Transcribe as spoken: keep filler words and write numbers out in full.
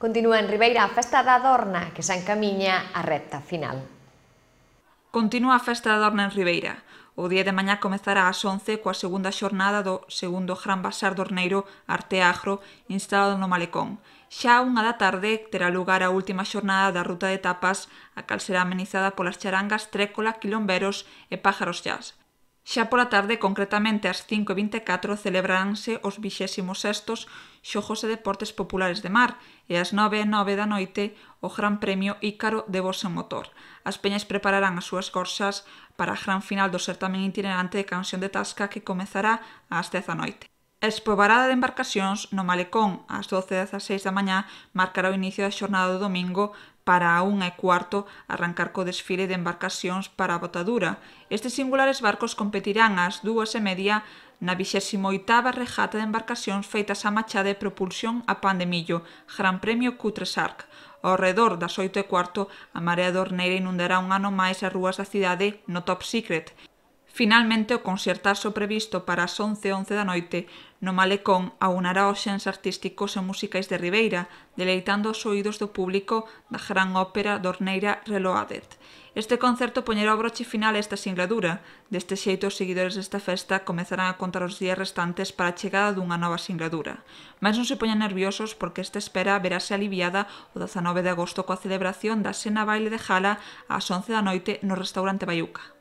Continúa en Ribeira a Festa da Adorna, que se encamiña á recta final. Continúa a Festa da Adorna en Ribeira. O día de mañá comezará ás once coa segunda xornada do segundo Gran Bazar Dorneiro Arteagro instalado no Malecón. Xa a unha da tarde terá lugar a última xornada da ruta de tapas, a cal será amenizada polas charangas Trécola, Quilomberos e Pájaros Jazz. Xa pola tarde, concretamente ás cinco e vinte e catro, celebraránse os vixésimos sextos Xogos e Deportes Populares de Mar e ás nove e nove da noite o Gran Premio Ícaro de Voz en Motor. As peñas prepararán as súas gorzas para a gran final do certamen itinerante de canción de Tasca que comezará ás dez da noite. A expobarada de embarcacións no Malecón ás doce e dezaseis da mañá marcará o inicio da xornada do domingo para a unha e cuarto arrancar co desfile de embarcacións para a botadura. Estes singulares barcos competirán ás dúas e media na vixésimo oitava regata de embarcacións feitas á machada de propulsión a pan de millo, Gran Premio Cutresarc. Ao redor das oito e cuarto, a marea dorneira inundará un ano máis as rúas da cidade no Top Secret. Finalmente, o concertazo previsto para as once e once da noite no Malecón aunará os xens artísticos e musicais de Ribeira, deleitando os oídos do público da gran ópera dorneira Reloaded. Este concerto poñerá o broche final a esta singladura. Deste xeito, os seguidores desta festa comezarán a contar os días restantes para a chegada dunha nova singladura. Mas non se poñan nerviosos porque esta espera verase aliviada o dezanove de agosto coa celebración da Sena Baile de Jala ás once da noite no restaurante Baiuca.